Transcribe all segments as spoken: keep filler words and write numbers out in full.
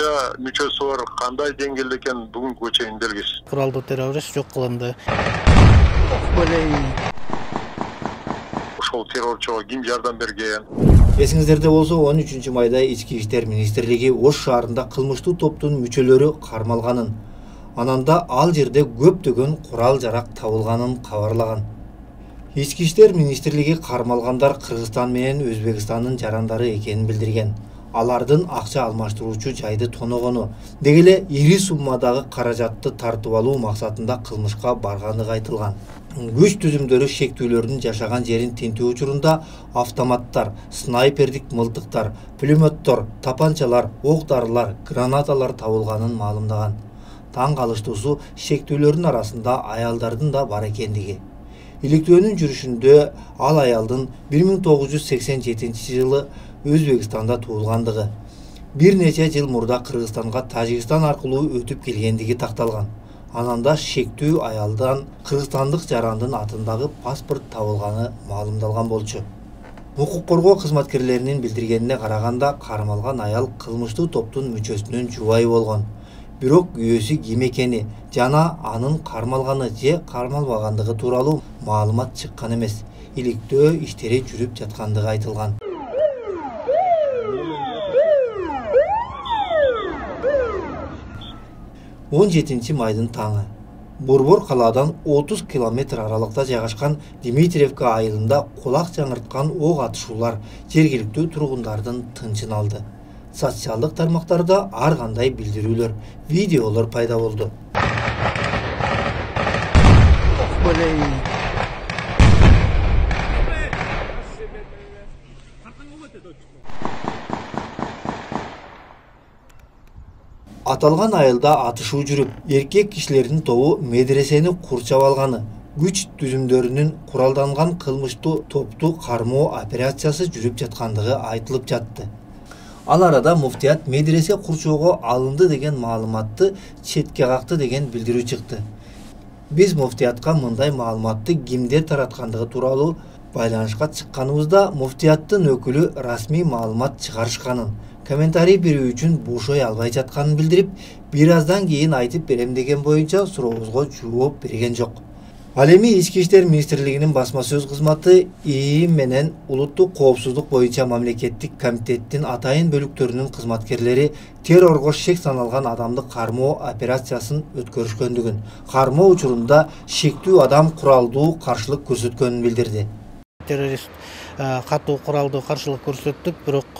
канча мүчөсү бар, кандай деңгээлде экен бүгүнкүгө чейин белгисиз. Куралдуу террорист жок кылынды. Ошол террорчуга ким жардам берген? Эсиңиздерде болсо, он үчүнчү майда Ички иштер министрлиги Ош шаарында кылмыштуу топтун мүчөлөрү кармалганын, ананда ал жерде көптөгөн курал-жарак табылганын кабарлаган. Ички иштер министрлиги кармалгандар Кыргызстан менен Өзбекстандын жарандары экенин билдирген. Алардын акча алмаштыруучу жайды тоногону, деги эле ири суммадагы каражатты тартып алуу максатында кылмышка баргандыгы айтылган. Күч түзүмдөрү шектүүлөрдүн жашаган жерин тинтүү учурунда автоматтар, снайпердик мылтыктар, пулеметтор, тапанчалар, ок-дарылар, гранаталар табылганын маалымдаган. Таң калыштуусу шектүүлөрдүн арасында аялдардын да бар экендиги. Иликтөөнүн жүрүшүндө ал аялдын бир миң тогуз жүз сексен жетинчи жылы Өзбекстанда туулгандыгы, бир нече жыл мурда Кыргызстанга Тажикстан аркылуу өтүп келгендиги такталган. Ананда шектүү аялдан кыргызстандык жарандын атындагы паспорт табылганы маалымдалган болчу. Укук коргоо кызматкерлеринин билдиргенине караганда, кармалган аял кылмыштуу топтун мүчөсүнүн жубайы болгон. Бирок күйөөсү ким экени жана анын кармалганы же кармалбагандыгы тууралуу маалымат чыккан эмес. Иликтөө иштери жүрүп жаткандыгы айтылган. он жетинчи майдын таңы Борбор калаадан отуз километр аралыкта жайгашкан Дмитриевка айылында кулак жаңырткан ок атышуулар жергиликтүү тургундардын тынчын алды. Социалдык тармактарда ар кандай билдирүүлөр, видеолор пайда болду. Аталган айылда атышуу жүрүп, эркек кишилердин тобу медресени курчап алганы, күч түзүмдөрүнүн куралданган кылмыштуу топту кармоо операциясы жүрүп жаткандыгы айтылып жатты. Ал арада муфтият медресе курчоого алынды деген маалыматты четке какты деген билдирүү чыкты. Биз муфтиятка мындай маалыматты кимдер тараткандыгы тууралуу байланышка чыкканыбызда муфтияттын өкүлү расмий маалымат чыгарышканын, комментарий берүү үчүн бошой албай жатканын билдирип, бир аздан кийин айтып берем деген боюнча сурообузга жооп берген жок. Ал эми Ички иштер министрлигинин басма сөз кызматы ИИ менен улуттук коопсуздук боюнча мамлекеттик комитеттин атайын бөлүктөрүнүн кызматкерлери террорго шек саналган адамды кармоо операциясын өткөрүшкөндүгүн, кармоо учурунда шектүү адам куралдуу каршылык көрсөткөнүн билдирди. Террорист катуу куралдуу каршылык көрсөттүк, бирок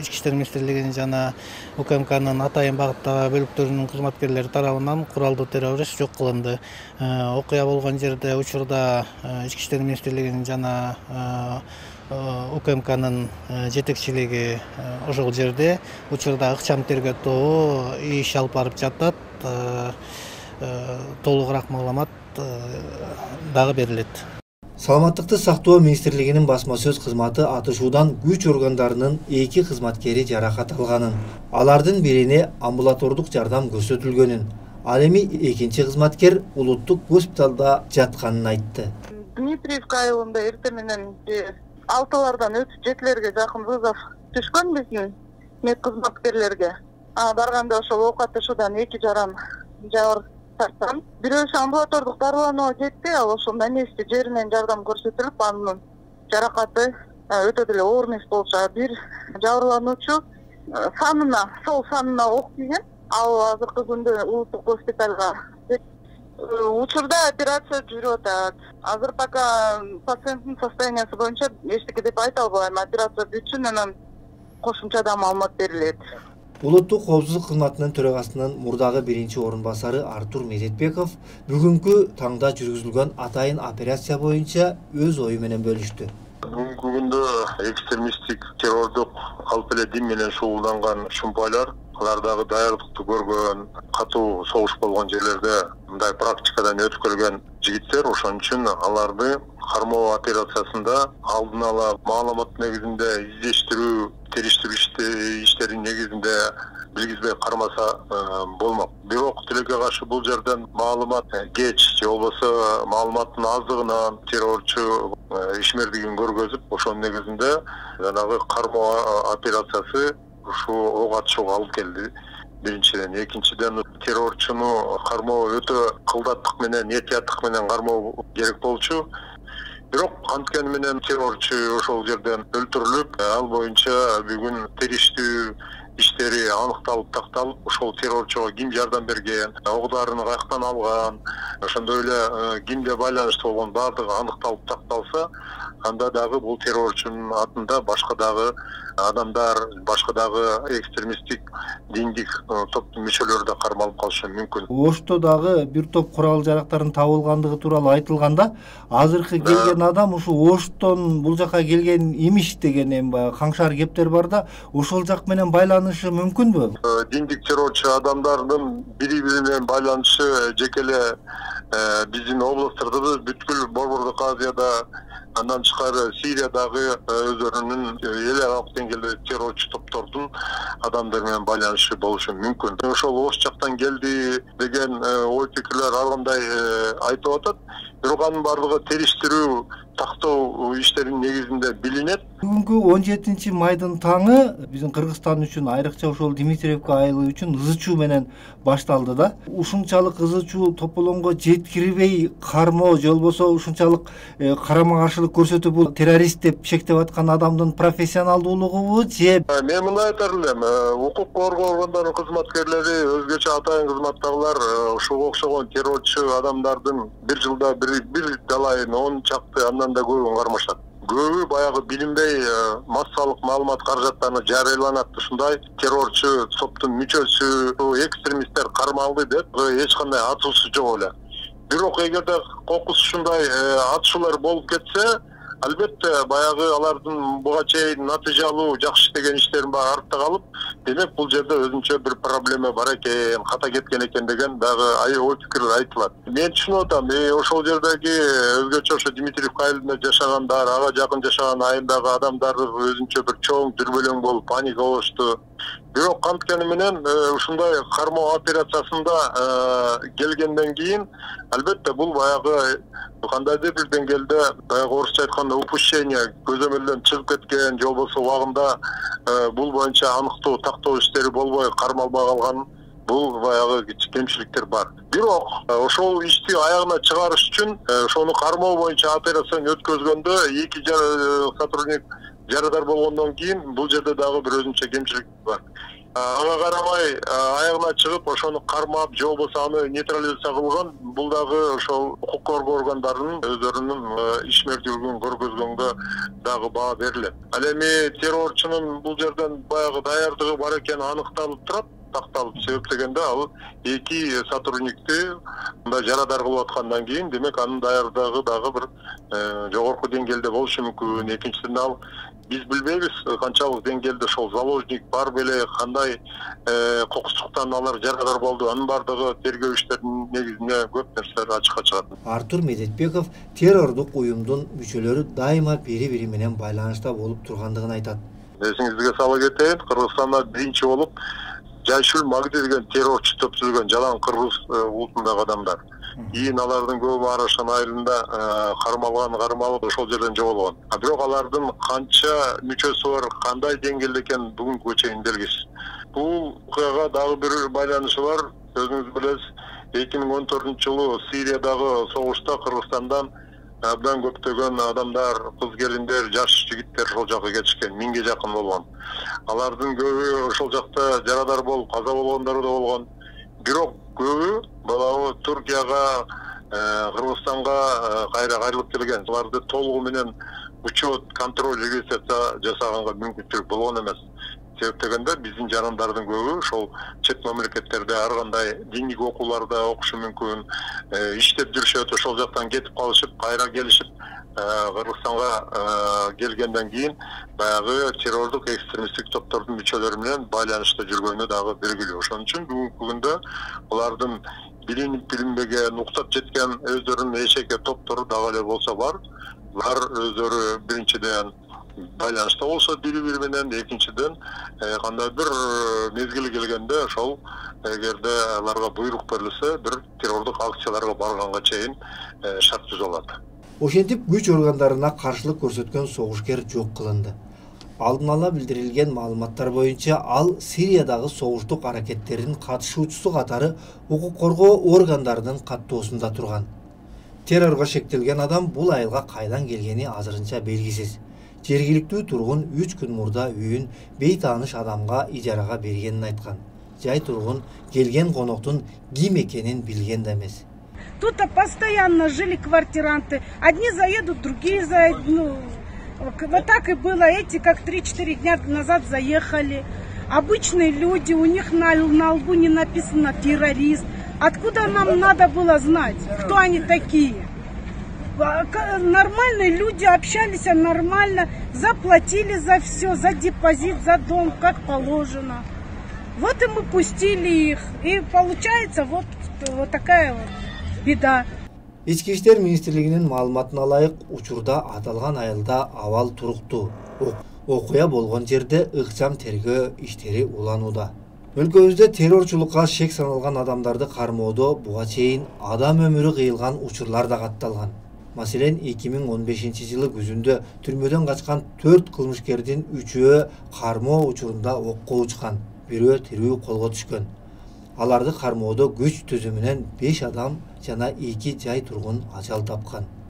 Ички иштер министрлигинин жана УКМКнын атайын багыттагы бөлүктөрүнүн кызматкерлери тарабынан куралдуу террорист жок кылынды. Окуя болгон жерде учурда Ички иштер министрлигинин жана УКМКнын жетекчилиги ошол жерде, учурда ыкчам тергөө тобу иш алып барып жатат. Толугураак маалымат дагы берилет. Саламаттыкты сактоо министрлигинин басма сөз кызматы атышуудан күч органдарынын эки кызматкери жаракат алганын, алардын бирине амбулатордук жардам көрсөтүлгөнүн, ал эми экинчи кызматкер улуттук госпиталда жатканын айтты. Дмитриевка айылында эртең менен алтылардан өтүп жетилерге жакын вызов түшкөн биздин мед кызматкерлерге. Барганда ошол ок атышуудан эки жаран жабыр тарткан. Бирөөсү амбулатордук дарыланууга кетти, ал ошол на месте жеринен жардам көрсөтүлүп, анын жаракаты өтө деле оор эмес болчу. Бир жабырлануучу санына, сол санына ок тийген. Ал азыркы күндө улуттук госпиталга. Учурда операция жүрүп атат. Азыр пока пациенттин состояниясы боюнча эчтеке деп айта албайм. Операция бүтсүн, анан кошумча да маалымат берилет. Улуттук коопсуздук кызматынын төрагасынын мурдагы биринчи орун басары Артур Медетбеков бүгүнкү таңда жүргүзүлгөн атайын операция боюнча өз ою менен бөлүштү. Бүгүнкү күндө экстремисттик террордук алып эле дин менен шугулданган шумпайлар, алардагы даярдыкты көргөн, катуу согуш болгон жерлерде мындай практикадан өтүп келген жигиттер, ошон үчүн аларды кармоо операциясында алдын ала маалымат негизинде издештирүү, териштирүү иштерин негизинде билгизбей кармаса болмок. Бирок тилекке каршы бул жерден маалымат кеч же болбосо маалыматтын аздыгынан террорчу ишмердигин көргөзүп, ошонун негизинде жанагы кармоо операциясы ушул ок атышууга алып келди биринчиден. Экинчиден, террорчуну кармоо өтө кылдаттык менен, этияттык менен кармоо керек болчу. Бирок анткени менен террорчу ошол жерден өлтүрүлүп, ал боюнча бүгүн териштүү иштери аныкталып такталып, ошол террорчуга ким жардам берген, огларын каяктан алган, ошондой эле кимге байланыштуу болгон баардыгы аныкталып такталса, анда дагы бул террорчунун атында башка дагы адамдар, башка дагы экстремисттик диндик топтун мүчөлөрү да кармалып калышы мүмкүн. Ошто дагы бир топ курал жарактардын табылгандыгы тууралуу айтылганда, азыркы келген адам ушу Оштон бул жака келген имиш деген эми баягы каңшар кептер бар да, ошол жак менен байланышы мүмкүнбү? Диндик террорчу адамдардын бири-бири менен байланышы жеке эле биздин областтарда, бүткүл Борбордук Азияда, андан тышкары Сириядагы өздөрүнүн эл аралык деңгээлде террорчу топтордун адамдар менен байланышы болушу мүмкүн. Ошол Ош жактан келди деген ой пикирлер ар кандай айтып атат. Бирок анын бардыгы териштирүү, тактоо иштеринин негизинде билинет. Бүгүнкү он жетинчи майдын таңы биздин Кыргызстан үчүн, айрыкча ошол Дмитриевка айылы үчүн ызы чуу менен башталды да. Ушунчалык ызы чуу тополоңго жеткирбей кармоо же болбосо ушунчалык карама каршылык көрсөтүү бул террорист деп шектеп аткан адамдын профессионалдуулугубу же? Мен мындай айтар элем, укук коргоо органдарынын кызматкерлери, өзгөчө атайын кызматтагылар ушуга окшогон террорчу адамдардын бир жылда бир бир далайын он чакты андан да көбүн кармашат. Көбү баягы билинбей массалык маалымат каражаттарына жарыяланат. Ушундай террорчу топтун мүчөсү, экстремисттер кармалды деп эч кандай атуусу жок эле. Бирок эгерде кокус ушундай атышуулар болуп кетсе, албетте баягы алардын буга чейин натыйжалуу жакшы иштеген иштерин баары артта калып, демек бул жерде өзүнчө бир проблема бар экен, ката кеткен экен деген дагы ой пикирлер айтылат. Мен түшүнүп атам, ошол жердеги өзгөчө ошо Дмитриевка айылында жашагандар, ага жакын жашаган айылдагы адамдар өзүнчө бир чоң дүрбөлөң болуп паника болушту. Бирок анткени менен ушундай кармоо операциясында келгенден кийин албетте бул баягы кандайдыр бир деңгээлде баягы орусча айтканда упущение, көзөмөлдөн чыгып кеткен, же болбосо убагында бул боюнча аныктоо, тактоо иштери болбой кармалбай калган, бул баягы кемчиликтер бар. Бирок ошол ишти аягына чыгарыш үчүн ошону кармоо боюнча операцияны өткөзгөндө эки сотрудник жарадар болгондон кийин бул жерде дагы бир өзүнчө кемчилик бар. Ага карабай аягына чыгып ошону кармап же болбосо аны нейтрализация кылган, бул дагы ошол укук коргоо органдарынын өздөрүнүн ишмердүүлүгүн көргөзгөнгө дагы баа берилет. Ал эми террорчунун бул жерден баягы даярдыгы бар экени аныкталып турат, такталып себептегенде ал эки сотрудникти мындай жарадар кылып аткандан кийин, демек анын даярдыгы дагы бир жогорку деңгээлде болушу мүмкүн. Экинчиден ал биз билбейбиз канчалык деңгээлде ошол заложник бар беле, кандай кокустуктан алар жарадар болду. Анын бардыгы тергөө иштеринин негизинде көп нерселер ачыкка чыгат. Артур Медетбеков террордук уюмдун мүчөлөрү дайыма бири-бири менен байланышта болуп тургандыгын айтат. Эсиңизге сала кетейин, Кыргызстанда биринчи болуп Жайшул Магди деген террорчу топ түзүлгөн жалаң кыргыз улутундагы адамдар. Кийин алардын көбү Арашан айылында кармалган, кармалып ошол жерден жоголгон. А бирок алардын канча мүчөсү бар, кандай деңгээлде экени бүгүнкүгө чейин белгисиз. Бул окуяга дагы бир байланышы бар. Өзүңүз билесиз, эки миң он төртүнчү жылы Сириядагы согушта Кыргызстандан абдан көптөгөн адамдар, кыз келиндер, жаш жигиттер ошол жака кетишкен, миңге жакын болгон. Алардын көбү ошол жакта жарадар болуп, каза болгондор да болгон. Бирок көбү баягы Туркияга, Кыргызстанга кайра кайрылып келген. Аларды толугу менен учет, контроль, регистрация жасаганга мүмкүнчүлүк болгон эмес. Себептегенде биздин жарандардын көбү ошол чет мамлекеттерде ар кандай диндик окууларда окушу мүмкүн, иштеп жүрүшөт, ошол жактан кетип калышып, кайра келишип, Кыргызстанга келгенден кийин баягы террордук экстремисттик топтордун мүчөлөрү менен байланышта жүргөнү дагы белгилүү. Ошон үчүн бүгүнкү күндө алардын билинип билинбеген, уктап жеткен өздөрүнүн эчеке топтору дагы эле болсо бар. Алар өздөрү биринчиден байланышта болсо бири-бири менен, экинчиден кандайдыр мезгили келгенде ошол эгерде аларга буйрук берилсе, бир террордук акцияларга барганга чейин шарт түзүп алат. Ошентип күч органдарына каршылык көрсөткөн согушкер жок кылынды. Алдын ала билдирилген маалыматтар боюнча ал Сириядагы согуштук аракеттердин катышуучусу катары укук коргоо органдарынын каттоосунда турган. Террорго шектелген адам бул айылга кайдан келгени азырынча белгисиз. Жергиликтүү тургун үч күн мурда үйүн бейтааныш адамга ижарага бергенин айткан. Жай тургун келген коноктун ким экенин билген да эмес. Тут постоянно жили квартиранты. Одни заедут, другие заедут. Ну, вот так и было. Эти как три-четыре дня назад заехали. Обычные люди, у них на, на лбу не написано террорист. Откуда нам надо было знать, кто они такие? Нормальные люди общались нормально, заплатили за все, за депозит, за дом, как положено. Вот и мы пустили их. И получается вот, вот такая вот беда. Ички иштер министрлигинин маалыматына ылайык, учурда аталган айылда абал туруктуу. Окуя болгон жерде ыкчам тергөө иштери уланууда. Өлкөбүздө террорчулукка шек саналган адамдарды кармоодо буга чейин адам өмүрү кыйылган учурлар да катталган. Маселен, эки миң он бешинчи жылы күзүндө түрмөдөн качкан төрт кылмышкердин үчөө кармоо учурунда окко учкан, бирөө тирүү колго түшкөн. Аларды кармоодо күч түзүмүнөн беш адам жана эки жай тургун ажал тапкан.